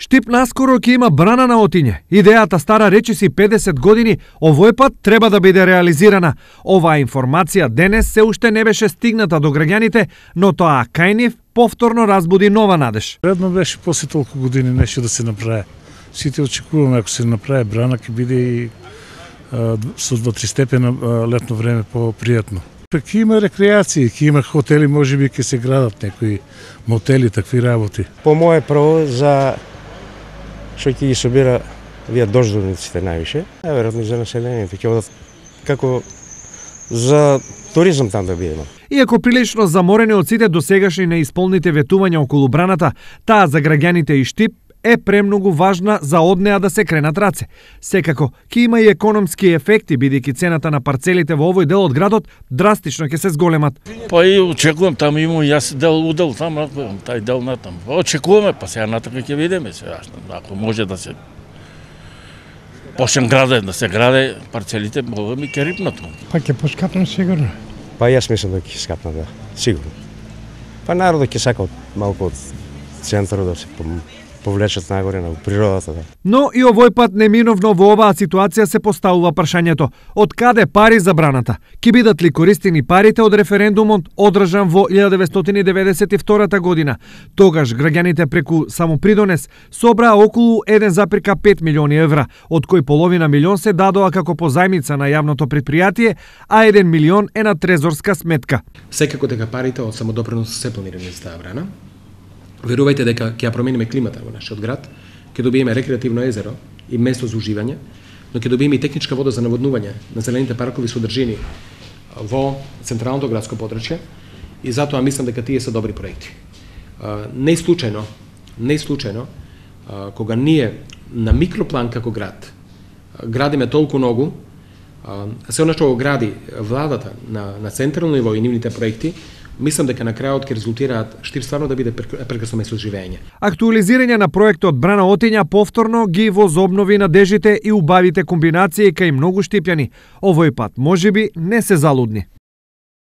Штип наскоро ќе има брана на Отиње. Идејата стара речиси 50 години, овој пат треба да биде реализирана. Оваа информација денес се уште не беше стигната до граѓаните, но тоа кај нив повторно разбуди нова надеж. Редно беше после толку години нешто да се направи. Сите очекуваме ако се направи брана ќе биде и со 2-3 степена летно време попријатно. Ќе има рекреации, ќе има хотели, можеби ќе се градат некои мотели, такви работи. По моје право за што ќе ги собира вие дождовниците највише, веројатно за населението ќе одат како за туризам там да биде. Иако прилично заморени од сите досегашни неисполните ветувања околу браната, таа за граѓаните и Штип е премногу важна за од неа да се кренат раце. Секако, ќе има и економски ефекти, бидејќи цената на парцелите во овој дел од градот драстично ќе се зголемат. Па и очекувам, таму имам јас удел таму, тај дел натаму. Очекуваме, па сега натаму ќе видиме сега, ако може да се почне да се граде парцелите, мога ми ќе рипнат. Па ќе поскапнат сигурно. Па јас мислам да ќе скапнат, да, сигурно. Па народот ќе сака малку од центарот да се повлечат нагоре на природата. Да. Но и овој пат неминовно во оваа ситуација се поставува прашањето: од каде пари за браната? Ќе бидат ли користени парите од референдумот одржан во 1992 година? Тогаш граѓаните преку самопридонес собраа околу 1,5 милиони евра, од кои половина милион се дадоа како позајмица на јавното предпријатие, а 1 милион е на трезорска сметка. Секако дека парите од самодопринос се планирани за таа брана. Верувајте дека ќе ја промениме климата во нашиот град, ќе добиеме рекреативно езеро и место за уживање, но ќе добиеме и техничка вода за наводнување на зелените паркови содржини во централното градско подрачје и затоа мислам дека тие се добри проекти. Не случајно, кога ние на микроплан како град градиме толку многу, се она што го гради владата на централно ниво и нивните проекти, мислам дека на крајот ќе резултираат Штип стварно да биде прекрасно место за живење. Актуализирање на проектот Брана Отиња повторно ги возобнови надежите и убавите комбинации кај многу штипјани. Овој пат можеби не се залудни.